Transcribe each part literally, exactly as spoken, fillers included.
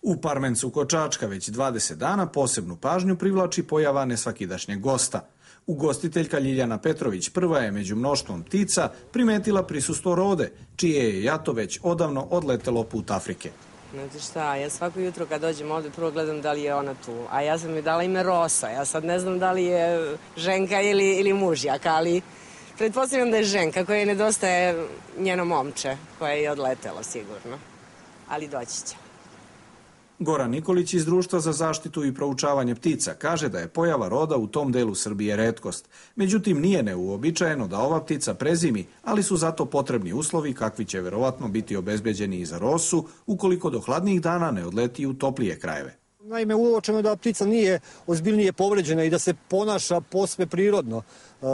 U Parmencu kod Čačka već dvadeset dana posebnu pažnju privlači pojava nesvakidašnjeg gosta. Ugostiteljka Ljiljana Petrović prva je među mnoštvom ptica primetila prisustvo rode, čije je jato već odavno odletelo put Afrike. Znate šta, ja svako jutro kad dođem ovdje prvo gledam da li je ona tu, a ja sam mi dala ime Rosa, ja sad ne znam da li je ženka ili, ili mužjak, ali pretpostavljam da je ženka koja nedostaje njeno momče, koja je odletelo sigurno, ali doći će. Goran Nikolić iz Društva za zaštitu i proučavanje ptica kaže da je pojava roda u tom delu Srbije retkost. Međutim, nije neuobičajeno da ova ptica prezimi, ali su zato potrebni uslovi kakvi će verovatno biti obezbeđeni i za rosu ukoliko do hladnijih dana ne odleti u toplije krajeve. Naime, uočeno je da ptica nije ozbiljnije povređena i da se ponaša posve prirodno. E,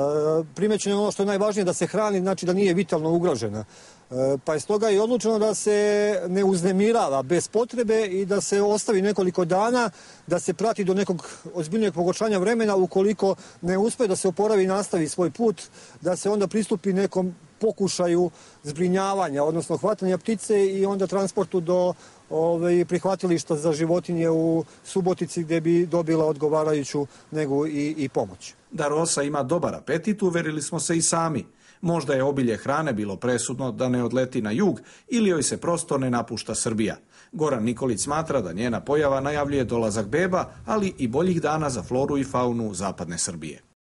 primećeno je ono što je najvažnije, da se hrani, znači da nije vitalno ugrožena. E, pa je stoga i odlučeno da se ne uznemirava bez potrebe i da se ostavi nekoliko dana, da se prati do nekog ozbiljnijeg pogoršanja vremena. Ukoliko ne uspe da se oporavi i nastavi svoj put, da se onda pristupi nekom pokušaju zbrinjavanja, odnosno hvatanja ptice i onda transportu do Ove, prihvatilišta za životinje u Subotici gdje bi dobila odgovarajuću negu i, i pomoć. Da rosa ima dobar apetit uverili smo se i sami. Možda je obilje hrane bilo presudno da ne odleti na jug ili joj se prosto ne napušta Srbija. Goran Nikolić smatra da njena pojava najavljuje dolazak beba, ali i boljih dana za floru i faunu zapadne Srbije.